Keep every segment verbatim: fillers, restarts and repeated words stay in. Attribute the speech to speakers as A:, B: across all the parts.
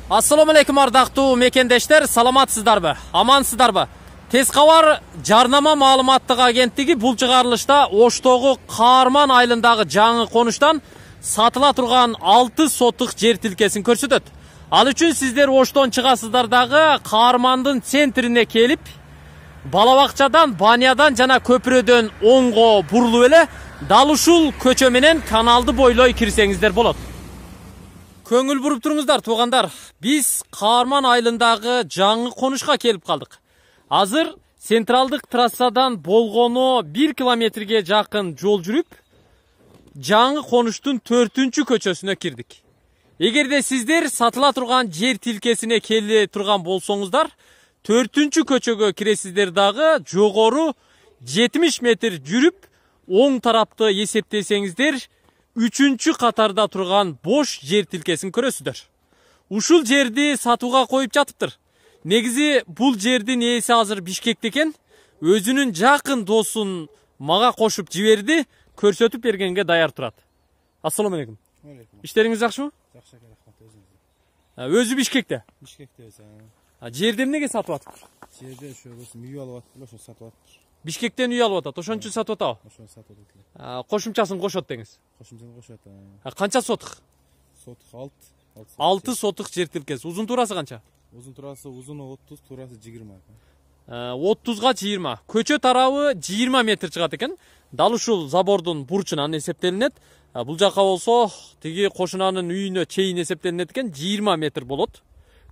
A: Assalomu alaykum ардактуу мекендештер, саламатсыздарбы? Амансыздарбы? Тез кабар жарнама маалыматтык агенттиги бул чыгарылышта Оштогу Каарман айылындагы жаңы конуштан сатыла турган алты соттук жер тилкесин көрсөтөт. Ал үчүн сиздер Оштон чыгасыздар дагы Каармандын центрине келип, бала бакчадан, банядан жана көпүрөдөн оңго бурулуп эле дал ушул көчө менен каналды бойлой кирсеңиздер болот. Көңүл буруп туруңуздар, туугандар. Биз Каарман айылындагы жаңы конушка келип калдык. Азыр централдык трассадан болгону бир километрге жакын жол жүрүп, жаңы конуштун төртүнчү көчөсүнө кирдик. Эгерде сиздер сатыла турган жер тилкесине келе турган болсоңуздар, төртүнчү көчөгө киресиздер дагы жогору жетимиш метр жүрүп, оң тарапты эсептесеңиздер, үчүнчү катарда турган бош жер тилкесин көрөсүздөр. Ушул жерди сатууга коюп жатыптыр. Негизи бул жердин ээси азыр Бишкекте экен. Өзүнүн жакын досун мага кошуп жиберди, көрсөтүп бергенге даяр турат. Ассаламу алейкум. Иштериңиз жакшымы?
B: Жакшы, рахмат, өзүңүз.
A: Өзү Бишкекте?
B: Бишкекте өзү.
A: А жерди эмнеге сатып атып?
B: Жерде ошо үй алып атып, ошо сатып атып.
A: Бишкектен үй алып атат, ошон үчүн сатып атабы?
B: Ошону сатып атат.
A: Кошумчасын кошот деңиз.
B: Кошумчасын кошот.
A: Канча сотук?
B: Сотук алты.
A: алты сотук жер тилкеси. Узун туурасы канча?
B: Узун туурасы узуну отуз, туурасы жыйырма.
A: отузга жыйырма. Көчө тарабы жыйырма метр чыгат экен. Дал ушул забордун бурчунан эсептелинет. Бул жака болсо тиги кошунанын үйүнө чейин эсептелинет экен, жыйырма метр болот.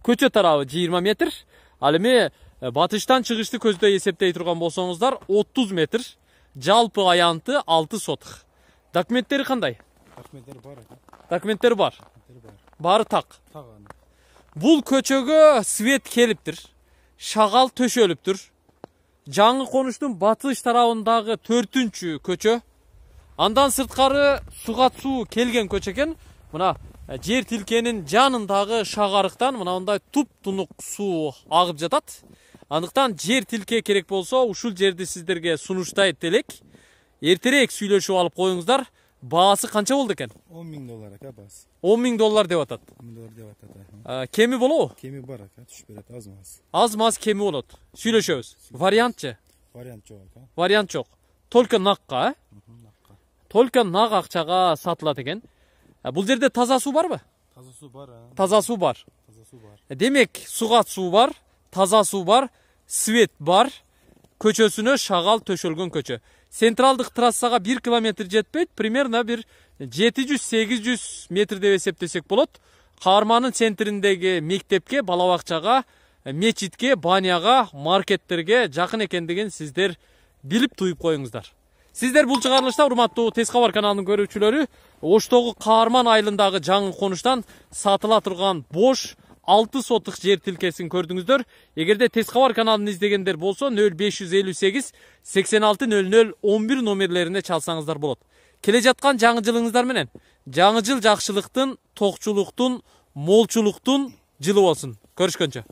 A: Көчө тарабы жыйырма метр. Ал эми батыштан чыгышты көздөй эсептей турган болсоңуздар отуз метр. Жалпы аянты алты сотук. Документтери кандай?
B: Документтери бар.
A: Документтери бар. Баары так.
B: Так.
A: Бул көчөгө свет келиптир. Шагал төшөлүптүр. Жаңы конуштун батыш тарабындагы төртүнчү көчө. Андан сырткары суга суу келген көчө экен. Мына жер тилкенин жанындагы шагарыктан мына мындай туп-тунук суу агып жатат. Андыктан жер тилке керек болсо, ушул жерди сиздерге сунуштайт элек. Эртерээк сүйлөшүп алып коюңуздар. Баасы канча болду экен?
B: он миң доллар экен баасы.
A: он миң доллар деп атат.
B: он миң доллар деп атат.
A: Кеми болобу?
B: Кеми бар экен, түшүп берет аз-маз.
A: Аз-маз кеми болот. Сүйлөшөбүз. Вариантчы?
B: Вариант жок экен.
A: Вариант жок. Только накка, э?
B: Накка.
A: Только нак акчага сатылат экен. Бул жерде таза суу барбы?
B: Таза суу бар.
A: Таза суу бар.
B: Таза суу бар.
A: Демек, суга суу бар, таза суу бар, свет бар. Көчөсүнө шагал төшөлгөн көчө. Централдык трассага бир километр жетпейт, примерно бир жети жүз сегиз жүз метр деп эсептесек болот. Каармандын центриндеги мектепке, бала бакчага, мечитке, баняга, маркеттерге жакын экендигин сиздер билип туюп коюңуздар. Сиздер бул чыгарылышта, урматтуу Тез кабар каналынын көрүүчүлөрү, Оштогу Каарман айылындагы жаңы конуштан сатыла турган бош алты сотук жер тилкесин көрдүңүздөр. Эгерде Тез кабар каналын издегендер болсо нөл беш жүз элүү сегиз сексен алты нөл нөл он бир номерлерине чалсаңыздар болот. Келе жаткан жаңы жылыңыздар менен жаңы жыл жакшылыктын, токчулуктун, молчулуктун жылы болсун. Көрүшкөнчө.